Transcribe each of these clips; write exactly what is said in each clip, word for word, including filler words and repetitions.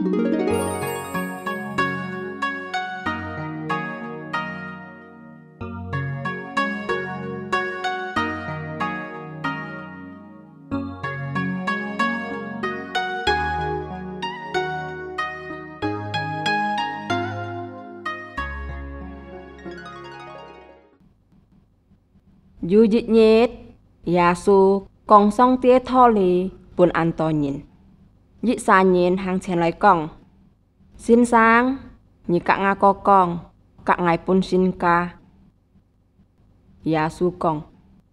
有一日，耶穌講上帝个道理分恁多人。一儕人行前來講：「先生，你佮吾哥講，佮𠊎分身家。」耶穌講：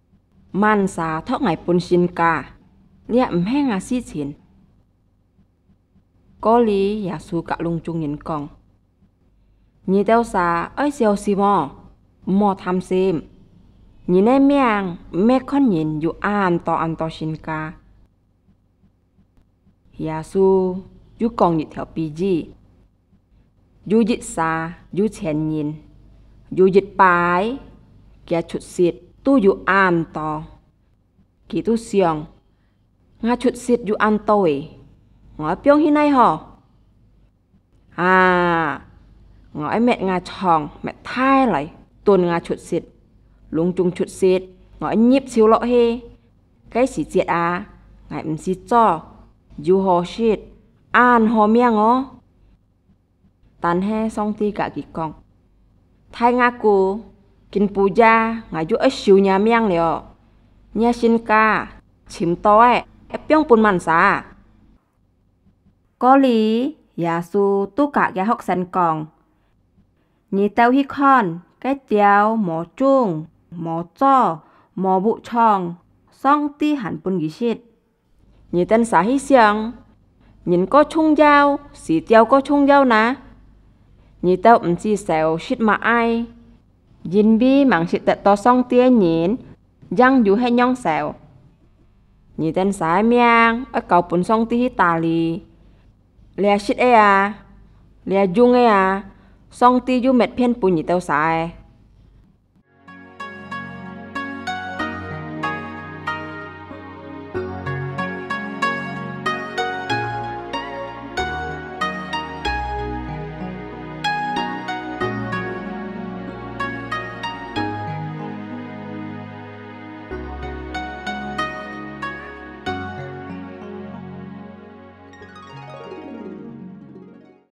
「麼儕託𠊎分身家？這毋係吾事情。」過哩，耶穌佮攏總人講：「你兜儕愛小心哦，毋好貪心。人个命毋係看人有恁多恁多身家。」耶穌又講一條比喻：有一儕有錢人，有一擺，厥出息都有恁多。佢就想：「吾出息有恁多欸，𠊎愛放去哪好？啊，𠊎愛搣吾倉搣大來，囤吾出息，攏總出息，𠊎愛入手落去。該時節啊，𠊎毋使做，有好食，恁好命哦！」但係上帝佮佢講：「大吾牯，今晡夜𠊎又愛收若命了，若身家尋到个，愛放分麼儕？」過哩，耶穌都佮厥學生講：「你兜去看，該鳥無種、無做、無屋藏，上帝還分佢食。你兜儕去想，人過重要，死鳥過重要哪？你兜毋知愁食麼个，因為吂食得到上帝个人， 正有歇仰愁。你兜儕个命愛交分上帝去打理。這食个啊，這用个啊，上帝又搣片分你兜儕个。」